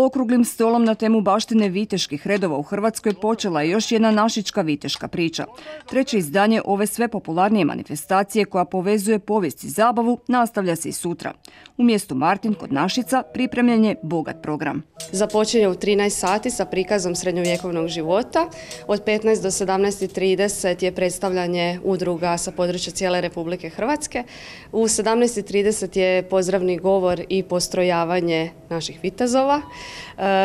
Okruglim stolom na temu baštine viteških redova u Hrvatskoj počela je još jedna našička viteška priča. Treće izdanje ove sve popularnije manifestacije koja povezuje povijest i zabavu nastavlja se i sutra. U mjestu Martin kod Našica pripremljen je bogat program. Započinje u 13 sati sa prikazom srednjovjekovnog života. Od 15 do 17:30 je predstavljanje udruga sa područja cijele Republike Hrvatske. U 17:30 je pozdravni govor i postrojavanje naših vitezova.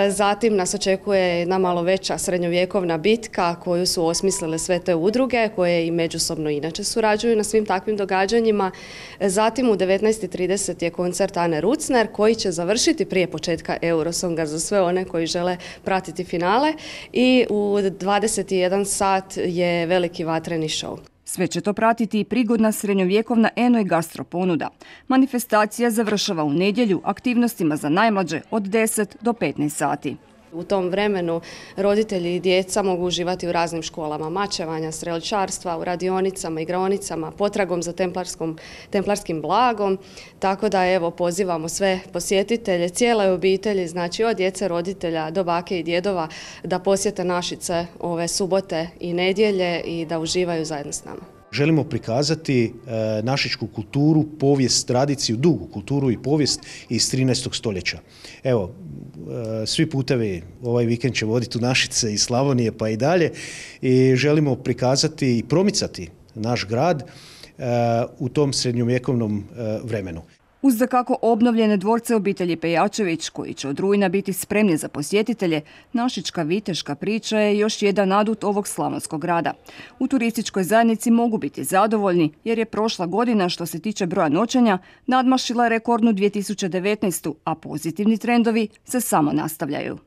Zatim nas očekuje jedna malo veća srednjovjekovna bitka koju su osmislile sve te udruge koje i međusobno inače surađuju na svim takvim događanjima. Zatim u 19:30 je koncert Ane Rucner koji će završiti prije početka Eurosonga za sve one koji žele pratiti finale i u 21 sat je veliki vatreni show. Sve će to pratiti i prigodna srednjovjekovna eno i gastro ponuda. Manifestacija završava u nedjelju aktivnostima za najmlađe od 10 do 15 sati. U tom vremenu roditelji i djeca mogu uživati u raznim školama mačevanja, strelčarstva, u radionicama, igraonicama, potragom za templarskim blagom. Tako da evo pozivamo sve posjetitelje, cijele obitelji, znači od djece, roditelja do bake i djedova da posjete Našice ove subote i nedjelje i da uživaju zajedno s nama. Želimo prikazati našičku kulturu, povijest, tradiciju, dugu kulturu i povijest iz 13. stoljeća. Evo, svi putevi ovaj vikend će voditi u Našice iz Slavonije pa i dalje i želimo prikazati i promicati naš grad u tom srednjovjekovnom vremenu. Uz dakako obnovljene dvorce obitelji Pejačević, koji će od rujna biti spremni za posjetitelje, našička viteška priča je još jedan adut ovog slavonskog grada. U turističkoj zajednici mogu biti zadovoljni jer je prošla godina što se tiče broja noćenja nadmašila rekordnu 2019. a pozitivni trendovi se samo nastavljaju.